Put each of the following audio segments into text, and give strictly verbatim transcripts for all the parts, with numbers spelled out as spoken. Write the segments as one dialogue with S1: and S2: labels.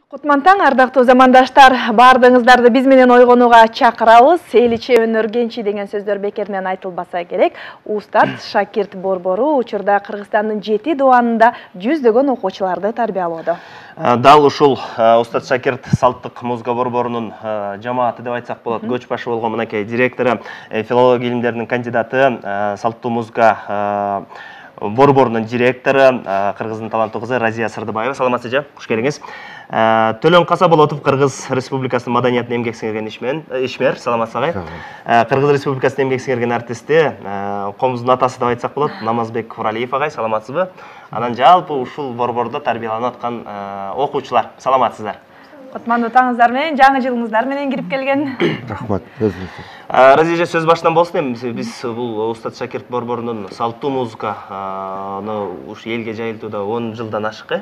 S1: Кутман таң, ардактуу замандаштар, бардыңыздарды биз менен ойгонууга чакырабыз. Эличе өнөр кенчи деген сөздөр бекеринен айтылбаса керек. Устат Шакирт Борбору учурда Кыргызстандын жети дубанында жүздөгөн окуучуларды тарбиялоодо.
S2: Дал ушул Устат Шакирт салттык музыка борборунун жамааты деп айтсак болот. Көч башы болгон мынакей директору, филология илимдеринин кандидаты, салттуу музыка борборунун директору, Кыргыздын таланттуу кызы Разия Сырдыбаева. Саламатсыз жа, куш келиңиз. Төлөн Касаболотов, Кыргыз Республикасынын маданиятын эмгек сиңирген ишмер. Саламатсыз агай. Кыргыз Республикасынын эмгек сиңирген артисти, комуздун атасы деп айтсак болот, Намазбек Куралиев агай. Саламатсызбы? Анан жалпы ушул борбордо тарбияланып аткан окуучулар. Саламатсыздар.
S1: Кутмандуу таңыңыздар менен, жаңы жылыңыздар менен кирип келген.
S3: Рахмат, өзүңүз.
S2: Разия, сөз башынан болсун эми. Биз бул Устат Шакирт борборунун салттуу музыканы уш элге жайылтууда он жылдан ашык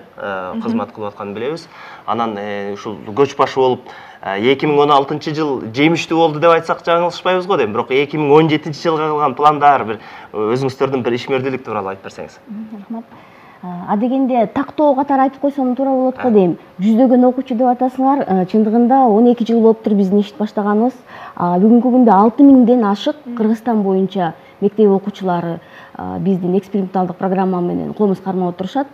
S2: кызмат кылып атканын билебиз. Анан ушул көч башы болуп эки миң он алтынчы жыл жемиштүү болду деп айтсак жаңылышпайбыз го дейм. Бирок эки миң он жетинчи жылга кылган пландар, бир өзүңүздөрдүн бир ишмердүүлүк тууралуу айтып берсеңиз.
S4: Рахмат. Адегенде тактоо катары айтып койсом туура болот го дейм. Жүздөгөн окуучу деп атасыңар, чындыгында он эки жыл болуптур биздин иштеп баштаганыбыз. Бүгүнкү күндө алты миңден ашык Кыргызстан боюнча мектеп окуучулары биздин эксперименталдык программа менен комуз кармап отурушат.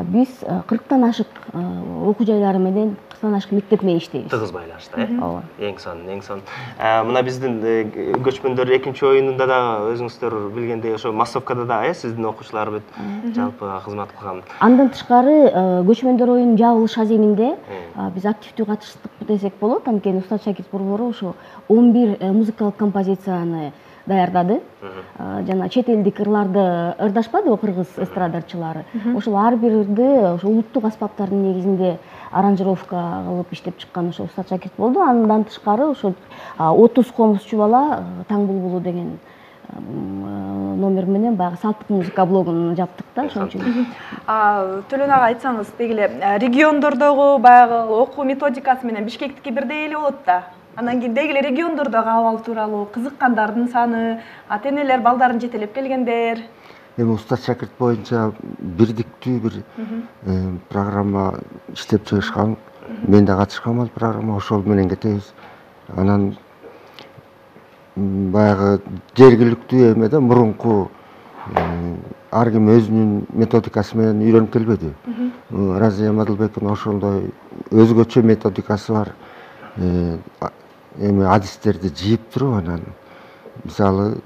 S4: Биз кырктан ашык окуу жайлары менен, кырктан ашык мектеп менен иштейбиз.
S2: Тыгыз байлашта, э? Ооба. Эң сонун, эң сонун. Мына биздин көчмөндөр экинчи оюнунда да өзүңүздөр билгендей ошо массовкада да, э, сиздин окуучулар бүт жалпы кызмат кылган.
S4: Андан тышкары көчмөндөр оюнунун жабылыш аземинде биз активдүү катыштык десек болот. Анткени Устат Шакирт борбору ошо он бир музыкалык композицияны даярдады. Жана чет элдик ырларды ырдашпады кыргыз эстрадарчылары. Ошол ар бирди ошо улуттук аспаптардын негизинде аранжировка кылып иштеп чыккан ошо Устат Шакирт болду. Андан тышкары ошо отуз комузчу бала Таң булбулу деген номер менен баягы салттык музыка блогун жаптык да, ошон үчүн.
S1: Төлөн ага айтсаңыз, дегиле региондордогу баягы окуу методикасы менен Бишкектики бирдей эле болот да. Анан кийин дегиле региондордогу абал тууралуу, кызыккандардын саны, ата-энелер балдарын жетелеп келгендер.
S3: Эми Устат Шакирт боюнча бирдиктүү бир программа иштеп чыгышкан. Мен да катышкам ал программа, ошол менен кетебиз. Анан баягы жергиликтүү эме да, мурунку ар ким өзүнүн методикасы менен үйрөнүп келбеди. Разия Мадылбековдун ошондой өзгөчө методикасы бар. Эми адистерди жыйып туруп, анан мисалы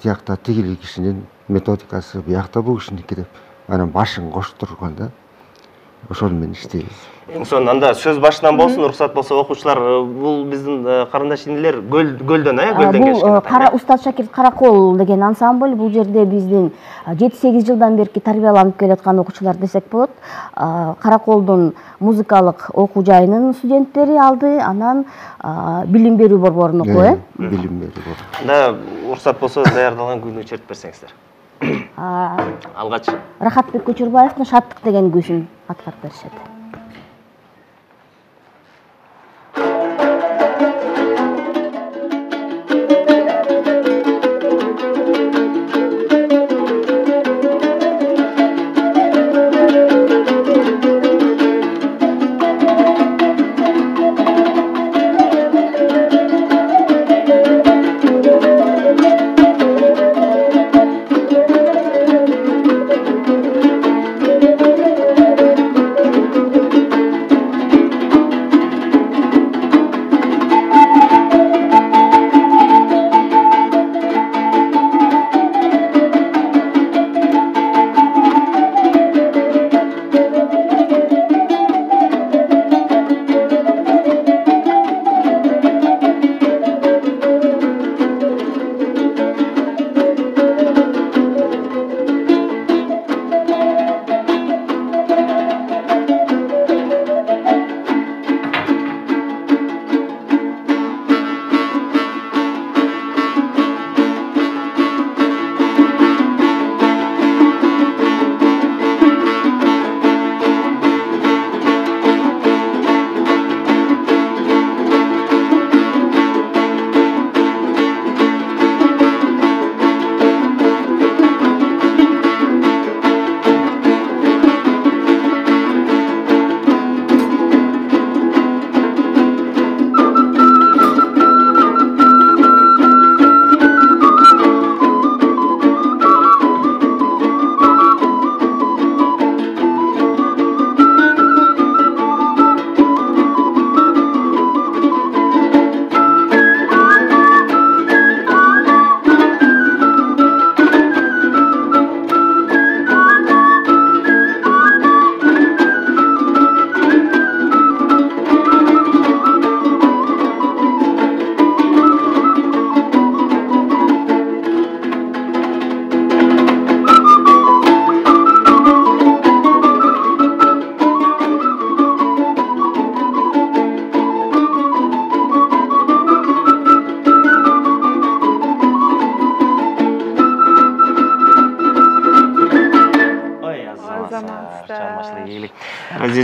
S3: тиякта тигил кишинин методикасы, биякта бул кишиники деп, анан башын коштурган да. Ошол менен иштейбиз.
S2: Эң сонун, анда сөз башынан болсун, уруксат болсо окуучулар, бул биздин карындаш инилер Гөлдөн, э, Гөлдөн келишкен.
S4: Бул Устат Шакирт Каракол деген ансамбль, бул жерде биздин жети сегиз жылдан берки тарбияланып келаткан окуучулар десек болот. Караколдун музыкалык окуу жайынын студенттери алды, анан билим берүү борборунун окуу, э?
S3: Билим берүү борбору.
S2: Да, уруксат болсо даярдалган күйүнү чертип берсеңиздер. Алгач
S4: Рахатбек Көчөрбаевдин Шаттык деген күйсүн аткарып беришет.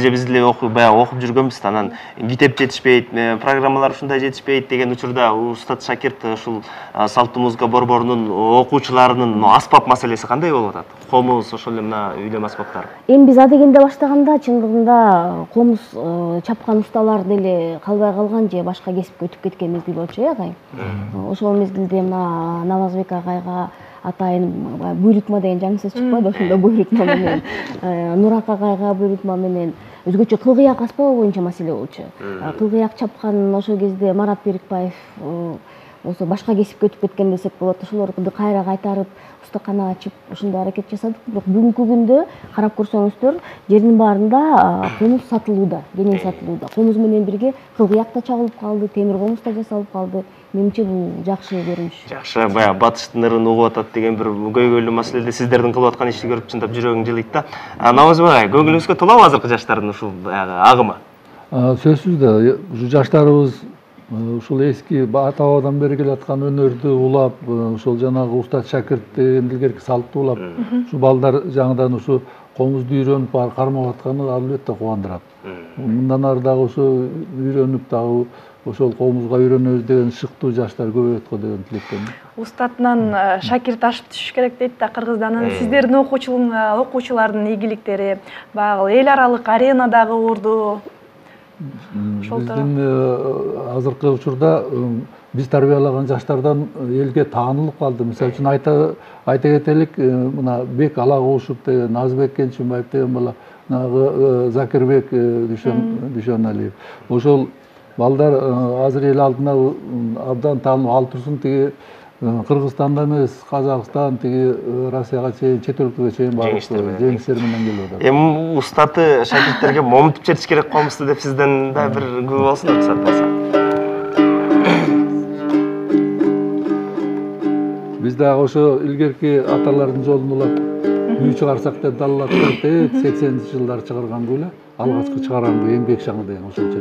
S2: эже биз деле баягы окуп жүргөнбүз да, анан китеп жетишпейт, программалар ушундай жетишпейт деген учурда устат Шакирт ушул салттуу музыка борборунун окуучуларынын аспап маселеси кандай болуп атат? Комуз, ошол эле мына үйлөм аспаптары.
S4: Эми биз адегенде баштаганда чындыгында комуз чапканусталар деле калбай калган же башка кесипке өтүп кеткен мезгил болчу э агай. Ошол мезгилде мына Намазбек агайга атайын буйрутма деген жаңы сөз чыкпайбы, ошондо буйрутма менен Нурак агайга буйрутма менен өзгөчө кылгыяк аспабы боюнча маселе болчу. Кылгыяк чапкан ошол кезде Марат Берикбаев болсо башка кесипке өтүп кеткен десек болот. Ошолорду кайра кайтарып устакана ачып ушундай аракет жасадык. Бирок бүгүнкү күндө карап көрсөңүздөр жердин баарында комуз сатылууда, кенен сатылууда. Комуз менен бирге кылгыяк да чагылып калды, темир комуз да жасалып калды. Менимче бул жакшы көрүнүш. Жакшы,
S2: баягы батыштын ырын угуп атат деген бир көйгөйлүү маселеде сиздердин кылып аткан ишти көрүп чындап жүрөгүң жылыйт да. Намазбек агай, көңүлүңүзгө толобу азыркы жаштардын ушул баягы агымы?
S5: Сөзсүз да, ушу жаштарыбыз ушул эски ата бабадан бери келаткан өнөрдү улап, ушул жанагы устат Шакирт деген илгерки салтты улап, ушу балдар жаңыдан ушу комузду үйрөнүп баары кармап атканы албетте кубандырат. Мындан ары дагы ушу үйрөнүп дагы ошол комузга үйрөнөбүз деген шыктуу жаштар көбөйөт го деген тилектемин.
S1: Устатынан Шакирт ашып түшүш керек дейт да Кыргыздан. Сиздердин окуучулардын ийгиликтери баягы эл аралык аренадагы орду.
S5: Биздин азыркы учурда биз тарбиялаган жаштардан элге таанылып калды. Мисалы үчүн айта айта кетелик, мына Бек Алагушев деген, Назбек Кенчимбаев деген бала, Закирбек Дүйшөналиев. Ошол балдар азыр эл алдына абдан таанылып ал турсун, тиги Кыргызстанда эмес, Казакстан, тиги Россияга чейин, чет өлкөгө чейин барып жеңиштер менен келип атат.
S2: Эми устаты шакирттерге момунтуп жетиш керек комузду деп сизден да бир күбө болсун уруксат болсо.
S5: Биз дагы ошо илгерки аталардын жолун улап, үй чыгарсак деп далалаттык сексенинчи жылдары чыгарган эле. Алгачкы чыгарган бу эмгек шаңы деген ошончо.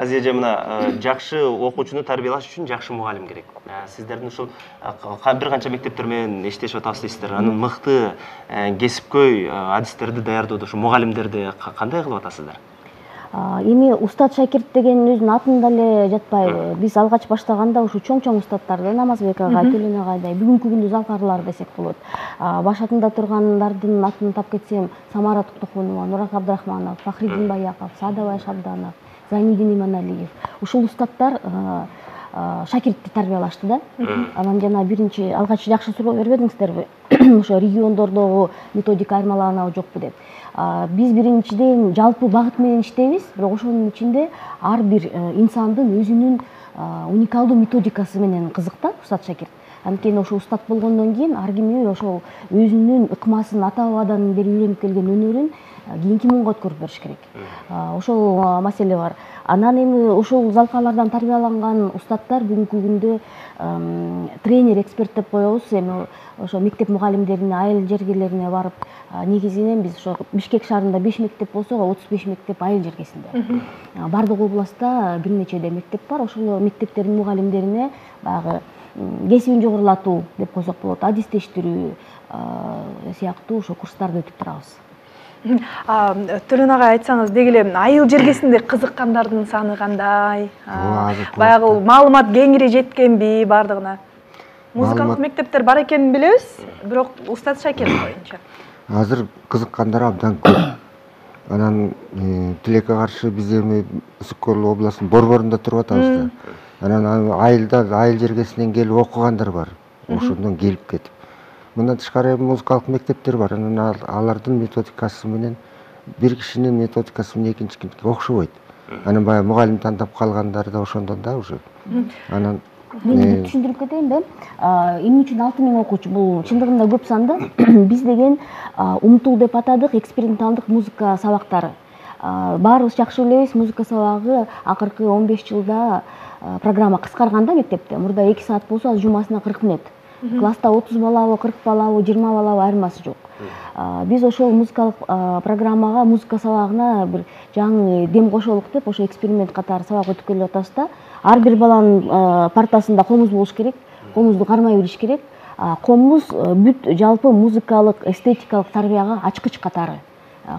S2: Разия мына жакшы окуучуну тарбиялаш үчүн жакшы мугалим керек. Сиздердин ушул бир канча мектептер менен иштешип атасыздар дейсиздер. Анын мыкты кесипкөй адистерди даярдоодо ушу мугалимдерди кандай кылып атасыздар?
S4: Эми Устат Шакирт деген өзүнүн атында эле жатпайбы. Биз алгач баштаганда ушу чоң-чоң устаттарды, Намазбек агай, Төлөн агайдай, бүгүнкү күндү залкарлар десек болот. Башатында тургандардын атын тап кетсем, Самара Токтохунова, Нурак Абдрахманов, Фахриддин Баяков, Саадабай Шабданов, Зайниддин Иманалиев. Ушул устаттар Шакиртти тарбиялашты да. Анан жана биринчи алгач жакшы суроо бербедиңиздерби? Ошо региондордогу методика айырмаланабы жокпу деп. Биз биринчиден жалпы багыт менен иштейбиз, бирок ошонун ичинде ар бир инсандын өзүнүн уникалдуу методикасы менен кызык да Устат Шакирт. Анткени ошо устат болгондон кийин ар ким ошол өзүнүн ыкмасын ата бабадан бери үйрөнүп келген өнөрүн кийинки муунга өткөрүп бериш керек. Ошол маселе бар. Анан эми ошол залкалардан тарбияланган устаттар бүгүнкү күндө тренер, эксперт деп коебуз. Эми ошо мектеп мугалимдерине, айыл жергелерине барып, негизинен биз ошо Бишкек шаарында беш мектеп болсо, отуз беш мектеп айыл жергесинде. Бардык областта бир нечеде мектеп бар. Ошол мектептердин мугалимдерине баягы кесибин жогорулатуу деп койсок болот, адистештирүү сыяктуу ошо курстарды өтүп турабыз.
S1: Төлөн агай, айтсаңыз, деги эле айыл жергесинде кызыккандардын саны кандай? Баягы маалымат кеңири жеткенби бардыгына? Музыкалык мектептер бар экенин билебиз, бирок Устат Шакирт боюнча.
S3: Азыр кызыккандар абдан көп. Анан тилекке каршы биз эми Үсүк-Көл областынын Борборунда туруп атабыз да. Анан айылда, айыл жергесинен келип окугандар бар. Ошондон келип кетип. Мындан тышкары музыкалык мектептер бар. Анан алардын методикасы менен бир кишинин методикасы менен экинчи кишиники окшобойт. Анан баягы мугалим тандап калгандар да ошондон да уже. Анан
S4: мен түшүндүрүп кетейинби? Эмне үчүн алты миң окуучу? Бул чындыгында көп санды. Биз деген умтул деп атадык, эксперименталдык музыка сабактары. Баарыбыз жакшы билебиз, музыка сабагы акыркы он беш жылда программа кыскарганда мектепте. Мурда эки саат болсо, азыр жумасына кырк мүнөт. Класста отуз балабы, кырк балабы, жыйырма балабы айырмасы жок. Биз ошол музыкалык программага, музыка сабагына бир жаңы дем кошолук деп, ошо эксперимент катары сабак өтүп келе атабыз да. Ар бир баланын партасында комуз болуш керек, комузду кармай билиш керек. Комуз бүт жалпы музыкалык, эстетикалык тарбияга ачкыч катары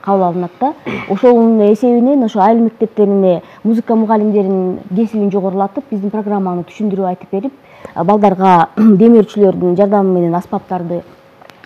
S4: кабыл алынат да. Ошонун эсебинен ошо айыл мектептерине музыка мугалимдеринин кесибин жогорулатып, биздин программаны түшүндүрүп айтып берип, балдарга демөөрчүлөрдүн жардамы менен аспаптарды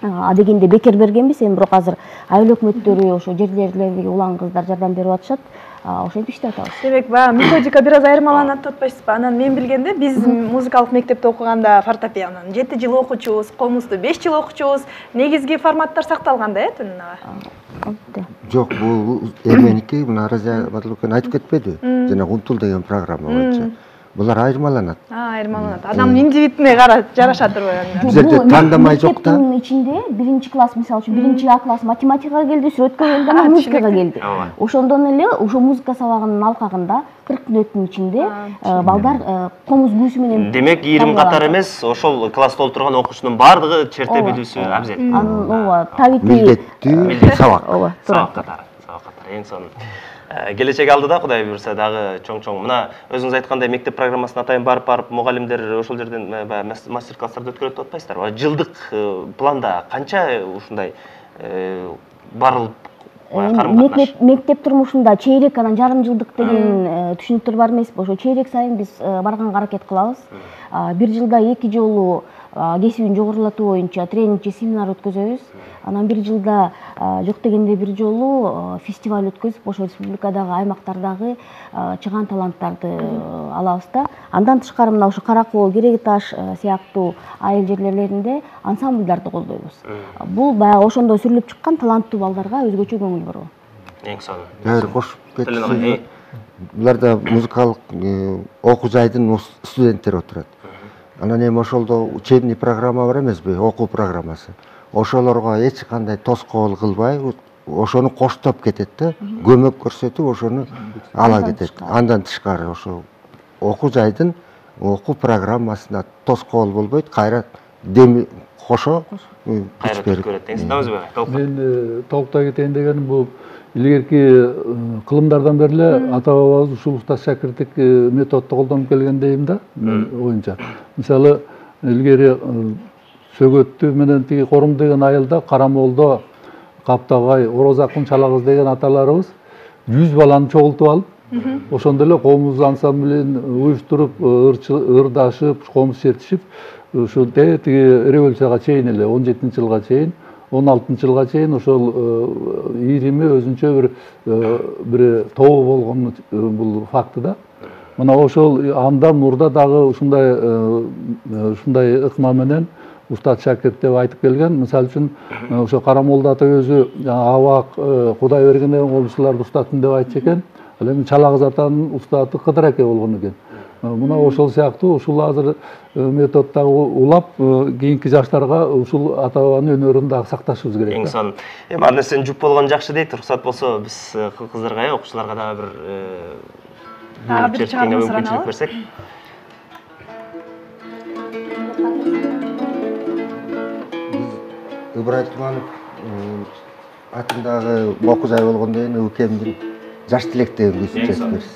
S4: адегенде бекер бергенбиз. Эми бирок азыр айыл өкмөттөрү, ошо жерлердеги улан кыздар жардам берип атышат. Ошентип иштеп атабыз.
S1: Демек, баягы методика бир аз айырмаланат деп атпайсызбы? Анан мен билгенде биз музыкалык мектепте окуганда фортепианон жети жыл окучубуз, комузду беш жыл окучубуз. Негизги форматтар сакталган да, э, Төлөн ага?
S3: Жок, бул эменики, мына Разия Батылбековна айтып кетпеди? Жана Умтул деген программа боюнча. Булар айырмаланат.
S1: Айырмаланат. Адамдын индивидине кара жараша турбайбы?
S3: Бизде тандамай жок да.
S4: Мектептин ичинде биринчи класс, мисалы үчүн биринчи А класс математикага келди, сүрөткө келди, анан музыкага келди. Ошондон эле ошо музыка сабагынын алкагында кырк мүнөттүн ичинде балдар комуз күүсү менен.
S2: Демек, ийрим катар эмес, ошол класста отурган окуучунун баардыгы черте билүүсү абзел.
S4: Ооба, табити
S3: милдеттүү сабак.
S4: Ооба,
S2: сабак катары, сабак катары. Эң сонун. Келечек алдыда, Кудай буйрса, дагы чоң-чоң. Мына өзүңүз айткандай мектеп программасына атайын барып-барып мугалимдер ошол жерден мастер-класстарды өткөрөт деп атпайсыздарбы? Жылдык планда канча ушундай барылып
S4: Мектеп мектеп турмушунда чейрек, анан жарым жылдык деген түшүнүктөр бар эмеспи? Ошо чейрек сайын биз барганга аракет кылабыз. Бир жылда эки жолу кесибин жогорулатуу боюнча тренинг же семинар өткөзөбүз. Анан бир жылда жок дегенде бир жолу фестиваль өткөзүп, ошо республикадагы аймактардагы чыган таланттарды алабыз да. Андан тышкары мына ошо Каракол, Кереги Таш сыяктуу айыл жерлеринде ансамбльдарды колдойбуз. Бул баягы ошондо сүрүлүп чыккан таланттуу балдарга өзгөчө көңүл буруу.
S2: Эң сонун.
S3: Дагы кошуп кетсем, буларда музыкалык окуу жайдын студенттери отурат. Анан эми ошолдо учебный программа бар эмеспи, окуу программасы. Ошолорго эч кандай тоскоол кылбай, ошону коштоп кетет да, көмөк көрсөтүп ошону ала кетет. Андан тышкары ошо окуу жайдын окуу программасына тоскоол болбойт, кайра дем кошо
S2: кайра көрөт деңиз. Намазбек,
S5: мен толуктай кетейин дегеним бул илгерки кылымдардан бери эле ата бабабыз ушул Устат Шакирттик методду колдонуп келген дейм да, мен оюмча. Мисалы, илгери Сөгөттү менен тиги Корум деген айылда, Карамолдо, Каптагай, Орозакын Чалагыз деген аталарыбыз жүз баланы чогултуп алып, ошондо эле комуз ансамблин уюштуруп, ырдашып, комуз чертишип, ушу тиги революцияга чейин эле он жетинчи жылга чейин, он алтынчы жылга чейин ошол ирими өзүнчө бир бир тобу болгон бул факты да. Мына ошол андан мурда дагы ушундай ушундай ыкма менен Устат Шакирт деп айтып келген. Мисалы үчүн ошо Карамолда ата өзү Абак Кудай бергенде комшуларды устатым деп айтчу экен. Ал эми Чалакыз атанын устаты Кыдыр аке болгон экен. Мына ошол сыяктуу ушул азыр методдагы улап кийинки жаштарга ушул ата бабанын өнөрүн дагы сакташыбыз керек.
S2: Эң сонун. Эми ар нерсени жуп болгон жакшы дейт. Уруксат болсо биз кыздарга, окуучуларга дагы бир бир чыгарма мүмкүнчүлүк берсек.
S3: Ыбырай Туманов атындагы окуу жай болгондон кийин укемдин жаш тилек деген күйсүн чечип берсин.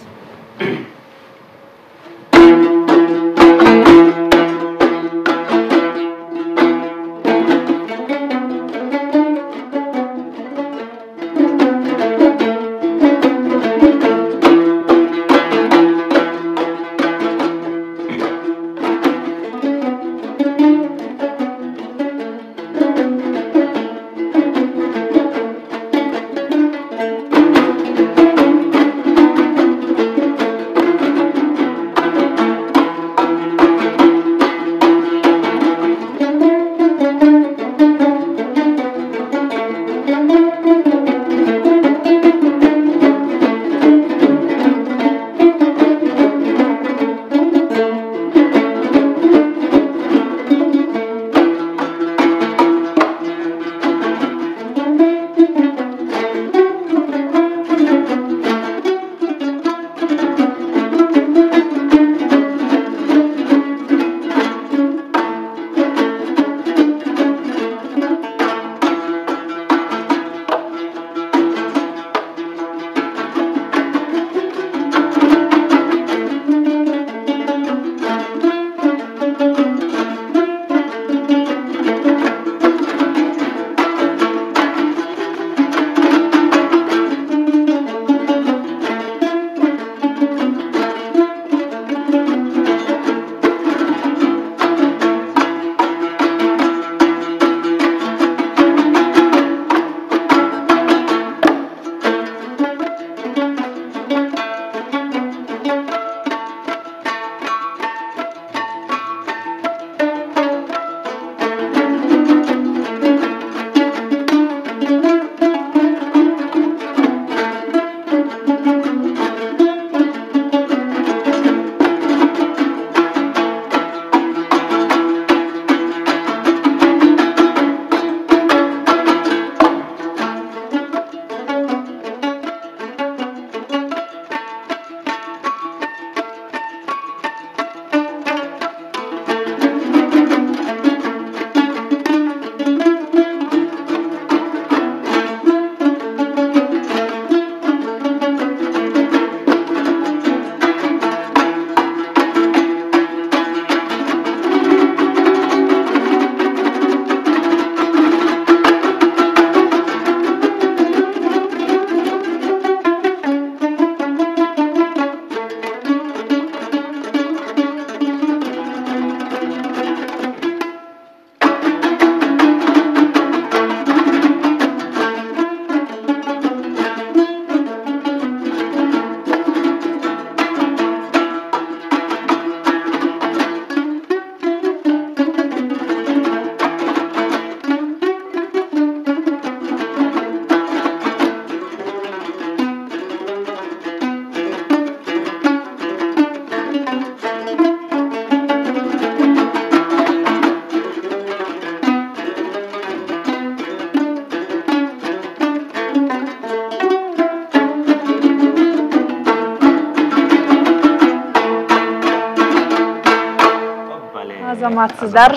S1: Азаматсыздар,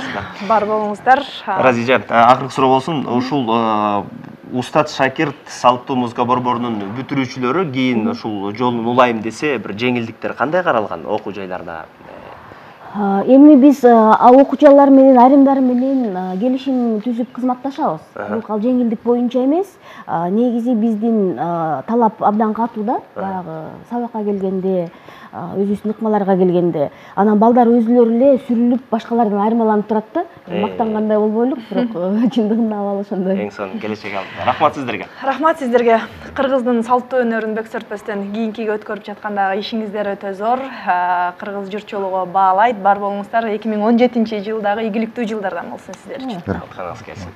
S1: бар болуңуздар.
S2: Разижа, акыркы суроо болсун. Ушул Устат Шакирт салттуу музыка борборунун бүтүрүүчүлөрү кийин ушул жолун улайм десе, бир жеңилдиктер кандай каралган окуу жайларда?
S4: Эми биз окуучулар менен айрымдары менен келишим түзүп кызматташабыз. Бирок ал жеңилдик боюнча эмес. Негизи биздин талап абдан катуу да, баягы сабакка келгенде, өзүбүздүн ыкмаларга келгенде. Анан балдар өзүлөрү эле сүрүлүп, башкалардан айырмаланып турат да. Мактангандай болбойлук, бирок чындыгында абал ошондой.
S2: Эң сонун келечек алдыда. Рахмат сиздерге.
S1: Рахмат сиздерге. Кыргыздын салттуу өнөрүн бөксөртпөстөн кийинкиге өткөрүп жаткандагы ишиңиздер өтө зор. Кыргыз журтчулугу баалайт. Бар болуңуздар эки миң он жетинчи жылдагы ийгиликтүү жылдардан болсун сиздер үчүн.
S2: Рахмат келсин.